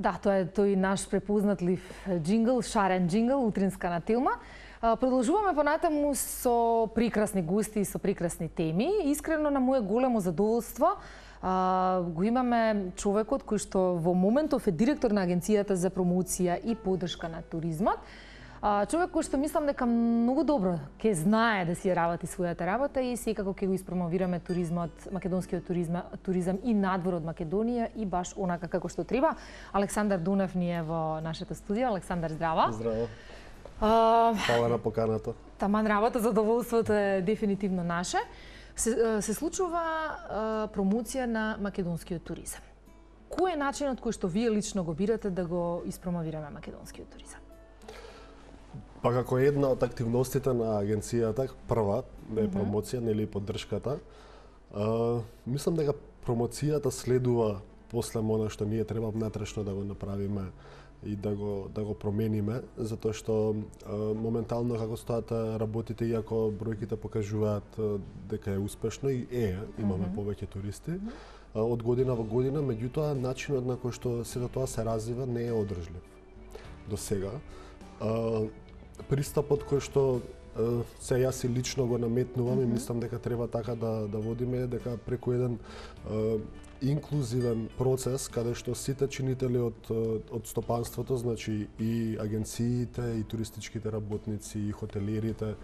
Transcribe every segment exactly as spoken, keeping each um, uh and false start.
Да, тоа е тој наш препознатлив джингл, шарен джингл, утринска на Телма. Продолжуваме понатаму со прекрасни гости и со прекрасни теми. Искрено на мое големо задоволство го имаме човекот кој што во моментов е директор на Агенцијата за промоција и поддршка на туризмот. Човек кој што мислам дека многу добро ќе знае да си работи својата работа и секако ќе го испромовираме туризмот, македонскиот туризм, туризам и надвор од Македонија и баш онака како што треба. Александар Дунев ни е во нашето студио. Александар, здраво. Здраво. Фала на поканата. Таман работа, задоволството е дефинитивно наше. Се, се случува а, промоција на македонскиот туризам. Кој е начинот кој што вие лично го бирате да го испромовираме македонскиот туризам? Па како една од активностите на агенцијата, прва е промоција, нели поддршката. А, мислам дека промоцијата следува после она што ние треба внатрешно да го направиме и да го да го промениме, затоа што а, моментално како стоат работите, иако бројките покажуваат а, дека е успешно и е, имаме mm -hmm. повеќе туристи а, од година во година, меѓутоа начинот на кој што сето тоа се развива не е одржлив до сега. А, пристапот кој што се јас и лично го наметнувам mm -hmm. и мислам дека треба така да да водиме, дека преку еден а, инклузивен процес каде што сите чинители од од стопанството, значи и агенциите, и туристичките работници, и хотелиерите,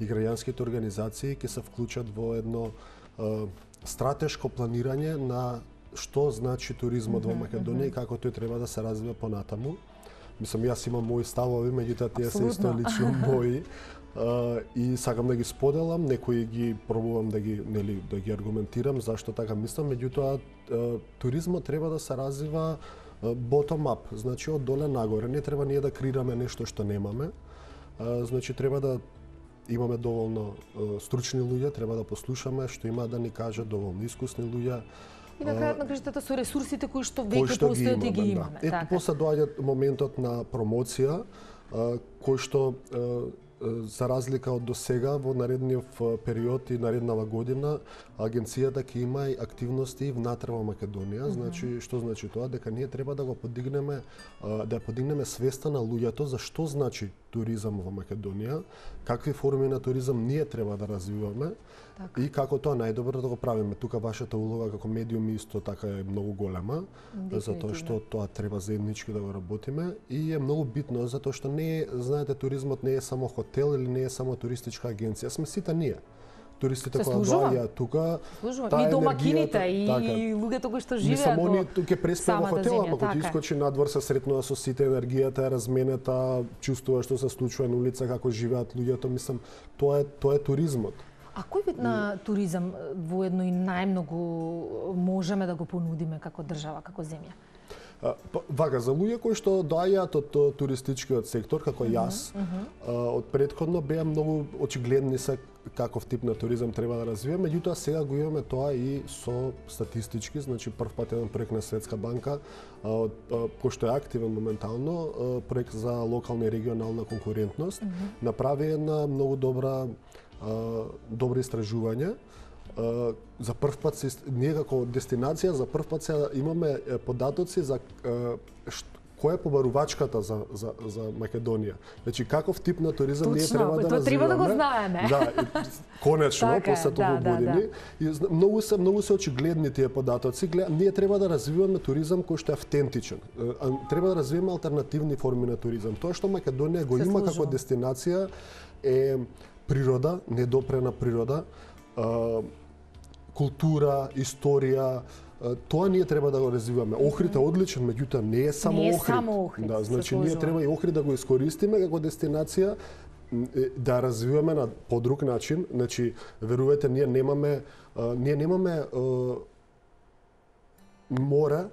и граѓанските организации ќе се вклучат во едно а, стратешко планирање на што значи туризмот mm -hmm. во Македонија и како тој треба да се развива понатаму. Мислам, јас имам мои ставови, меѓутоа тие се исто лично мои. Uh, и сакам да ги споделам, некои ги пробувам да ги нели да ги аргументирам зашто така мислам, меѓутоа uh, туризмот треба да се развива uh, bottom up, значи од доле нагоре, не треба ние да креираме нешто што немаме. Uh, значи треба да имаме доволно uh, стручни луѓе, треба да послушаме што има да ни кажат, доволно искусни луѓе. И на крајот на крајштата со ресурсите кои што веќе постојат и ги имаме. Да. Ето после доаѓа моментот на промоција, uh, кој што uh, за разлика од досега во наредниот период и нареднава година агенцијата ќе има и активности внатре во Македонија. Mm -hmm. Значи што значи тоа? Дека ние треба да го подигнеме да подигнеме свеста на луѓето за што значи туризам во Македонија, какви форми на туризам ние треба да развиваме так. И како тоа најдобро да го правиме. Тука вашата улога како медиум исто така е многу голема, затоа што тоа треба заеднички да го работиме и е многу битно затоа што не е, знаете, туризмот не е само хотел или не е само туристичка агенција, сме сите ние. Туристите кои доаѓаат тука, и домакините и, така, и луѓето кои што живеат. Само они тука преспе во хотела, ама кога искочи надвор се сретнува со сите, енергијата е разменета, чувствува што се случува на улица, како живеат луѓето, мислам, тоа е тоа е туризмот. А кој вид на туризам воедно и најмногу можеме да го понудиме како држава, како земја? Вака, за луѓе кои што доаѓаат од туристичкиот сектор, како јас, uh -huh. од претходно беа многу очигледни се каков тип на туризам треба да развиваме, меѓутоа сега го имаме тоа и со статистички, значи прв пат еден проект на Светска банка, кој што е активен моментално, проект за локална и регионална конкурентност, uh -huh. направи една многу добра добри истражување. Uh, за прв пат се, ние како дестинација за прв пат се имаме податоци за uh, шт, која е побарувачката за, за, за Македонија. Значи каков тип на туризам Точно, ние треба да развиваме. Треба да го знаеме. Да, и, конечно, така, после толку да, години. Да, да. И многу се многу се очигледни тие податоци. Гледа, ние треба да развиваме туризам кој што е автентичен. Треба да развиваме алтернативни форми на туризам. Тоа што Македонија го се има служува. Како дестинација е природа, недопрена природа. Uh, култура, историја, тоа ние треба да го развиваме. Охрид е одличен, меѓутоа не е само не е Охрид. Само Охрид. Да, значи ние треба и Охрид да го искористиме како дестинација, да развиваме на подруг начин. Значи, верувате, ние немаме ние немаме море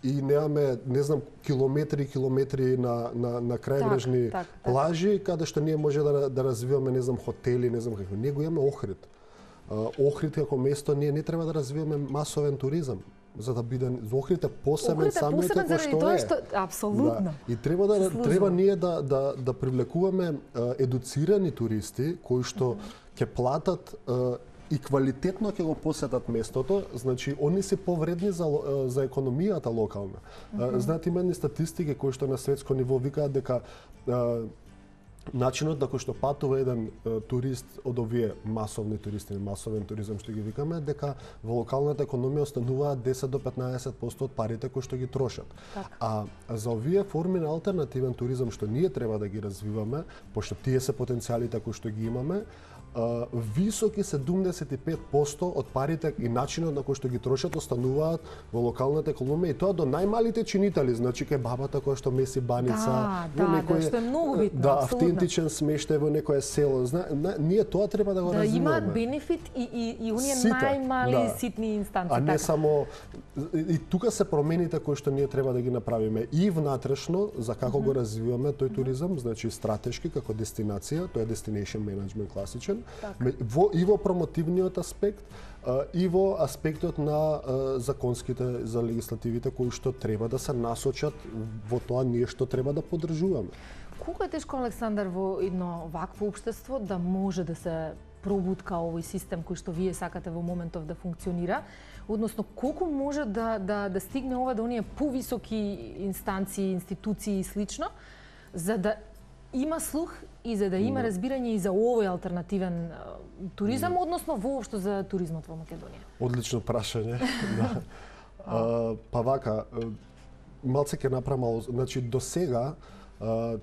и немаме, не знам, километри и километри на на на крајбрежни так, так, плажи так. Каде што ние може да да развиваме, не знам, хотели, не знам како. Ние го имаме Охрид. Охрид како место, ние не треба да развиваме масовен туризам, за да биде за Охрид е посебен самиот како што тоа е. Што, апсолутно. Да. И треба да треба ние да да да привлекуваме едуцирани туристи кои што ќе платат и квалитетно ќе го посетат местото, значи они се повредни за за економијата локална. Mm -hmm. Знаете, има едни статистики кои што на светско ниво викаат дека начинот на кој што патува еден е, турист од овие масовни туристи, масовен туризам што ги викаме, дека во локалната економија остануваат десет до петнаесет проценти од парите кои што ги трошат. Так. А за овие форми на алтернативен туризам што ние треба да ги развиваме, пошто тие се потенцијалите кои што ги имаме, Uh, високи седумдесет и пет проценти од парите и начинот на кој што ги трошат остануваат во локалната економија и тоа до најмалите чинители, значи кај бабата која што меси баница, да, во да, некој да, што е многу битно, да, абсолютно. автентичен смештај во некое село. Зна, на, ние тоа треба да го да развиваме. Да имаат бенефит и и и оние Сите, најмали да. ситни инстанции. А не така. само и, и тука се промените кои што ние треба да ги направиме и внатрешно за како mm -hmm. го развиваме тој туризам, значи стратешки како дестинација, тоа е destination management класичен. Так. Во, и во промотивниот аспект, и во аспектот на законските, за легислативите кои што треба да се насочат во тоа ние што треба да поддржуваме. Колку е тешко, Александар, во едно вакво општество да може да се пробутка овој систем кој што вие сакате во моментов да функционира, односно колку може да да да стигне ова до оние повисоки инстанции, институции и слично, за да има слух и за да има no. разбирање и за овој алтернативен uh, туризам, no. односно воопшто за туризмот во Македонија? Одлично прашање. Да. а, па вака, малце ќе направам, значи до сега а,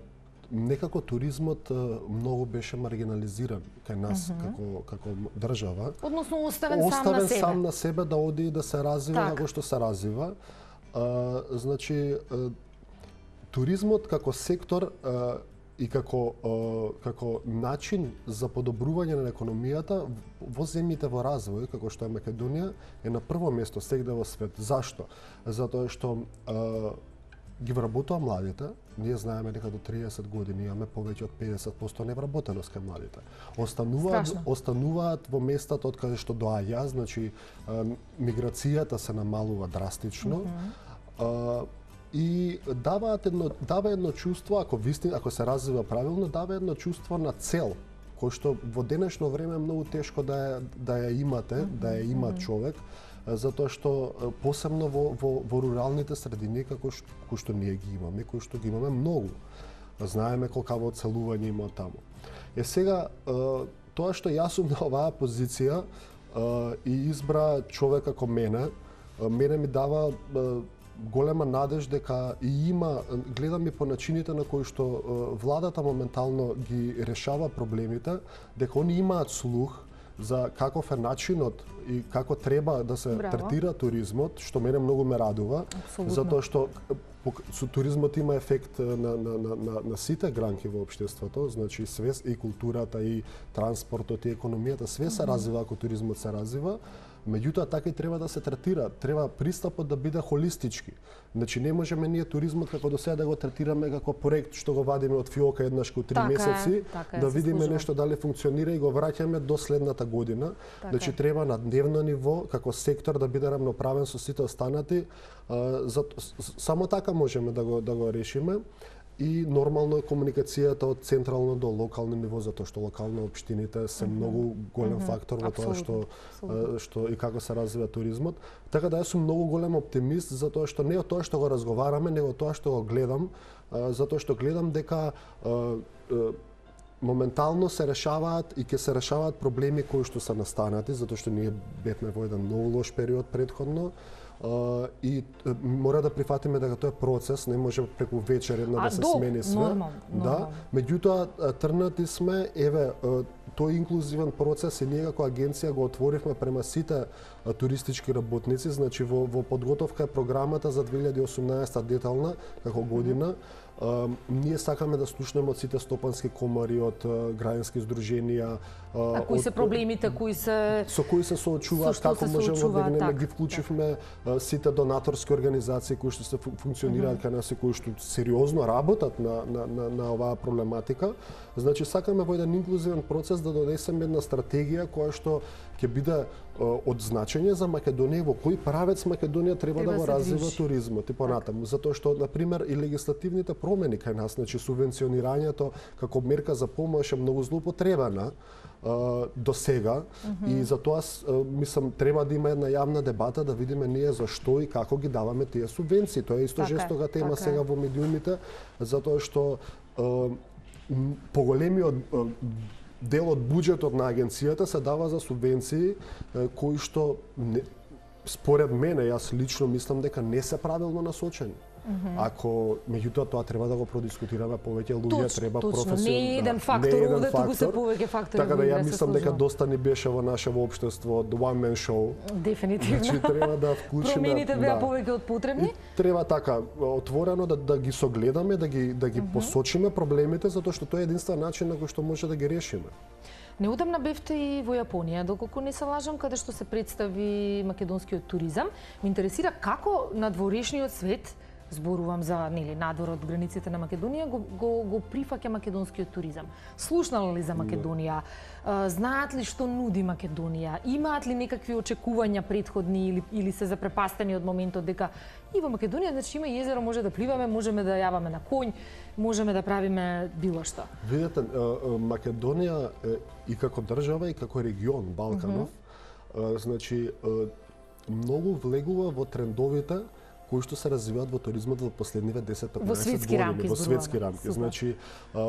некако туризмот а, многу беше маргинализиран кај нас mm -hmm. како како држава. Односно оставен, оставен сам на себе. сам на себе да оди и да се развива како што се развива. А, значи а, туризмот како сектор а, и како како начин за подобрување на економијата во земјите во развој, како што е Македонија, е на прво место сегде во свет. Зашто? Затоа што а, ги вработува младите. Ние знаеме дека до триесет години имаме повеќе од педесет проценти невработеност кај младите. Остануваат Страшно. остануваат во местата од каде што доаѓа, значи а, миграцијата се намалува драстично. Mm -hmm. а, И даваат едно дава едно чувство, ако вистина, ако се развива правилно, дава едно чувство на цел, кој што во денешно време е многу тешко да ја, да ја имате, mm -hmm. да ја има човек, затоа што посебно во во, во руралните средини како што, кои што ние ги имаме, кои што ги имаме многу. Знаеме колкаво оцелување има таму. Е сега тоа што јас сум на оваа позиција и избра човек како мене, мене ми дава голема надеж дека и има, гледам и по начините на кои што владата моментално ги решава проблемите, дека они имаат слух за каков е начинот и како треба да се Браво. третира туризмот, што мене многу ме радува, Абсолютно. затоа што со туризмот има ефект на, на, на, на, на сите гранки во општеството, значи све и културата и транспортот и економијата, све се развива ако туризмот се развива. Меѓутоа, така и треба да се третира. Треба пристапот да биде холистички. Значи, не можеме ние туризмот како до сега да го третираме како проект што го вадиме од фиока еднаш во три така месеци, е, така е, да видиме нешто дали функционира и го враќаме до следната година. Така значи, треба на дневно ниво, како сектор, да биде рамноправен со сите останати. За, само така можеме да го, да го решиме. И нормално е комуникацијата од централно до локално ниво, затоа што локално општините се mm -hmm. многу голем mm -hmm. фактор во тоа што, што и како се развива туризмот. Така да јас сум многу голем оптимист, затоа што не од тоа што го разговараме, него од тоа што го гледам, затоа што гледам дека моментално се решаваат и ќе се решаваат проблеми кои што се настанати, затоа што ние бевме во еден многу лош период претходно. Uh, и uh, мора да прифатиме дека тоа е процес, не може преку вечер една да се до, смени све. Нормал, да, меѓутоа трнати сме, еве, uh, тој инклузивен процес и ние како агенција го отворивме према сите uh, туристички работници, значи во, во подготовка е програмата за две илјади и осумнаесета детална како година. Mm -hmm. Uh, ние сакаме да слушнеме од сите стопански комори, од uh, граѓански здруженија, uh, а кои се проблемите, кои се со кои се соочуваат, како можеме да одегнеме, ги вклучивме uh, сите донаторски организации кои што се функционираат mm -hmm. кај нас и кои што сериозно работат на, на, на, на оваа проблематика. Значи сакаме во еден инклузивен процес да донесеме една стратегија која што ќе биде од значење за Македонија, во кој правец Македонија треба, Треба да го се развива движи. туризмот и понатаму, затоа што на пример и легислативните промени кај нас, значи субвенционирањето како мерка за помош е многу злоупотребена до сега и затоа мислам треба да има една јавна дебата да видиме ние зашто и како ги даваме тие субвенции. Тоа е исто Така е, жестока тема така сега е. во медиумите, затоа што поголемиот дел од буџетот на агенцијата се дава за субвенции кои што не, според мене, јас лично мислам дека не се правилно насочени. Mm-hmm. Ако меѓутоа тоа треба да го продискутираме повеќе луѓе, Точно, треба точно. професионално. Не е еден фактор овде, туку се повеќе фактори. Така да ја се мислам дека сложува. доста ни беше во нашево општество the one man show. Дефинитивно. Значи треба да вклучиме. Промените беа да. повеќе од потребни. И треба така отворено да да ги согледаме, да ги да ги mm-hmm. посочиме проблемите затоа што тоа е единствен начин на кој што може да ги решиме. Неудамна бевте и во Јапонија, доколку не се лажам, каде што се представи македонскиот туризам. Ме интересира како надворешниот свет, зборувам за нели надвор од границите на Македонија, го го, го прифаќа македонскиот туризам. Слушнал ли за Македонија? Знаат ли што нуди Македонија? Имаат ли некакви очекувања претходни или или се запрепастени од моментот дека и во Македонија значи има езеро, може да пливаме, можеме да јаваме на конј, можеме да правиме било што. Видете, Македонија и како држава и како регион Балканов, mm-hmm. значи многу влегува во трендовите кои што се развиваат во туризмот во последниве десет-петнаесет години, рамки, во светски рамки. Супер. Значи,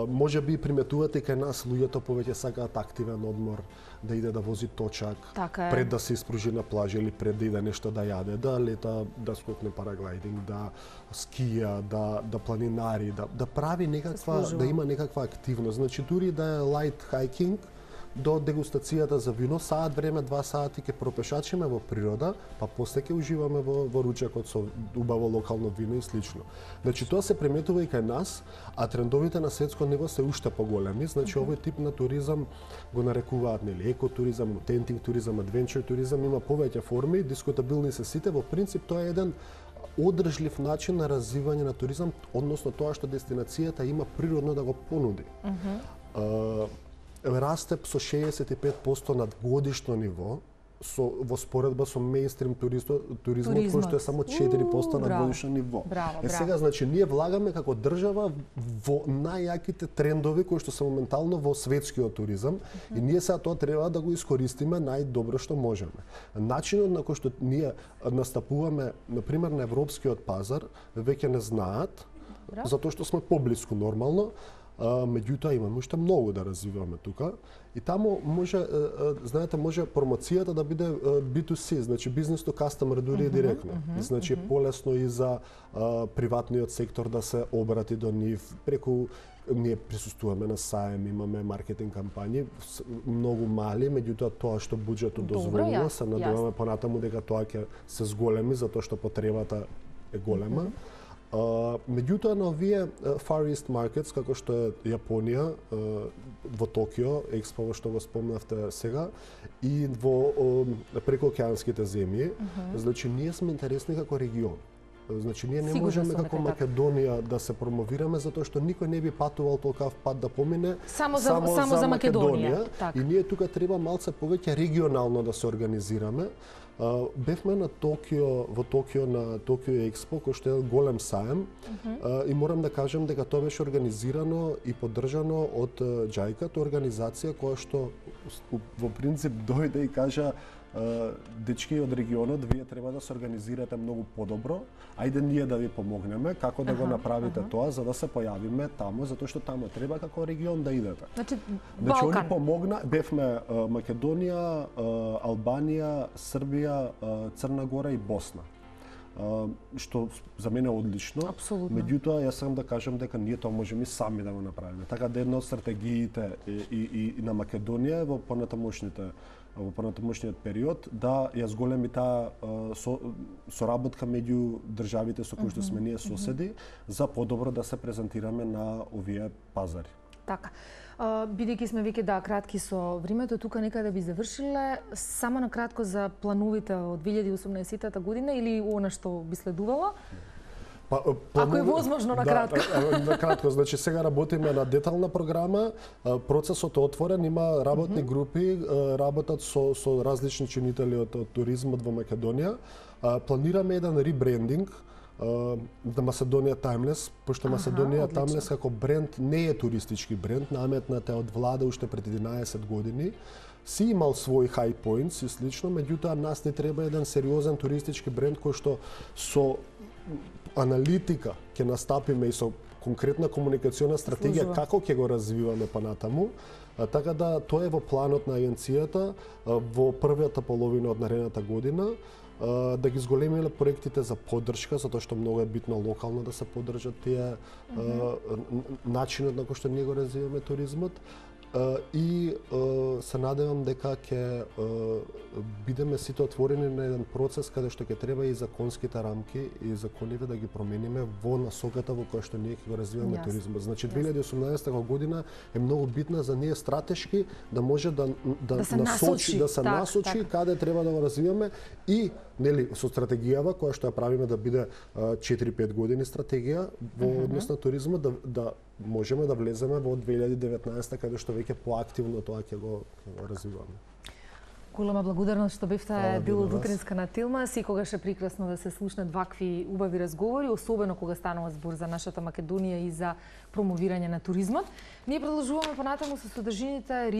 може би приметувате кај нас луѓето повеќе сакаат активен одмор, да иде да вози точак, така пред да се испружи на плажа или пред да иде нешто да јаде, да лета, да скокне параглайдинг, да скија, да да планинари, да да прави некаква да има некаква активност. Значи дури да е лайт хайкинг, до дегустацијата за вино, саат време, два сати ќе пропешачиме во природа, па после ќе уживаме во, во ручекот со убаво локално вино и слично. Значи тоа се приметува и кај нас, а трендовите на светско ниво се уште поголеми. Значи Okay. овој тип на туризам го нарекуваат нели екотуризам, аутентик туризам, адвенчер туризам, има повеќе форми, дискутабилни се сите. Во принцип тоа е еден одржлив начин на развивање на туризам, односно тоа што дестинацијата има природно да го понуди. Uh-huh. Uh, расте со шеесет и пет проценти над годишно ниво, со во споредба со мејнстрим туризмот, туризмот кој што е само четири проценти на годишно ниво. Браво, е сега значи ние влагаме како држава во најјаките трендови кои што се моментално во светскиот туризам mm-hmm. и ние сега тоа треба да го искористиме најдобро што можеме. Начинот на кој што ние настапуваме на пример на европскиот пазар веќе не знаат, Браво. Затоа што сме поблиску нормално. Uh, меѓутоа имаме уште многу да развиваме тука и таму може uh, uh, знаете може промоцијата да биде uh, би ту си, значи бизнес to customer дури uh-huh, директно. Uh-huh, значи uh-huh. полесно и за uh, приватниот сектор да се обрати до нив преку ние присуствуваме на саем, имаме маркетинг кампањи, многу мали, меѓутоа тоа што буџетот дозволува, се надеваме понатаму дека тоа ќе се зголеми затоа што потребата е голема. Uh-huh. Uh, меѓутоа на овие uh, Far East Markets, како што е Јапонија, uh, во Токио, експо што го спомнавте сега, и во uh, прекоокеанските земји, uh-huh. значи ние сме интересни како регион. Значи ние не Сигурно можеме сум како дека Македонија да се промовираме затоа што никој не би патувал толкав пат да помине само за, само, само за, за Македонија. Македонија. Так. И ние тука треба малце повеќе регионално да се организираме. Uh, бевме на Токио, во Токио на Токио Експо, кој што е голем саем, uh-huh. uh, и морам да кажам дека тоа беше организирано и поддржано од uh, џајка, тоа организација која што во принцип дојде и кажа uh, дечки од регионот, вие треба да се организирате многу подобро, ајде ние да ви помогнеме како да uh-huh, го направите uh-huh. тоа за да се појавиме таму, затоа што таму треба како регион да идете. Значи, Значи Балкан. они помогна, бевме uh, Македонија, uh, Албанија, Србија, uh, Црна Гора и Босна. Uh, што за мене е одлично. Апсолутно. Меѓутоа јас сакам да кажам дека ние тоа можеме и сами да го направиме. Така да една од стратегиите и, и, и на Македонија во понатамошните во понатамошниот период да ја зголеми таа со, соработка меѓу државите со кои што сме ние соседи за подобро да се презентираме на овие пазари. Така. Бидејќи сме веќе да кратки со времето, тука некаде би завршиле, само на кратко за плановите од две илјади и осумнаесетта година или она што би следувало? Па, Ако е возможно на кратко. Да, на кратко, значи сега работиме на детална програма, процесот е отворен, има работни групи, работат со со различни чинители од, од туризмот во Македонија. Планираме еден ребрендинг на Macedоnia Timeless, пошто Macedоnia Timeless како бренд не е туристички бренд, наметнат е од влада уште пред единаесет години. Си имал свој high points и слично, меѓутоа нас не треба еден сериозен туристички бренд кој што со аналитика ќе настапиме и со конкретна комуникациона стратегија Служува. Како ќе го развиваме понатаму. Така да тоа е во планот на агенцијата во првата половина од наредната година да ги зголемиме проектите за поддршка, затоа што многу е битно локално да се поддржат тие mm -hmm. начинот на кој што ние го развиваме туризмот. И се надевам дека ќе бидеме сите отворени на еден процес каде што ќе треба и законските рамки и законите да ги промениме во насоката во која што ние ќе го развиваме yes. туризмот. Значи две илјади и осумнаесета година е многу битна за ние стратешки да може да да, да се насочи, насочи, да се так, насочи так. каде треба да го развиваме и нели со стратегијава која што ја правиме да биде четири-пет години стратегија во mm -hmm. однос на туризмот да да можеме да влеземе во две илјади и деветнаесета каде што веќе поактивно тоа ќе го, го развиваме. Голема благодарност што бевте дел од утринска на Тилма. Секогаш е прекрасно да се слушнат вакви убави разговори, особено кога станува збор за нашата Македонија и за промовирање на туризмот. Ние продолжуваме понатаму со содржините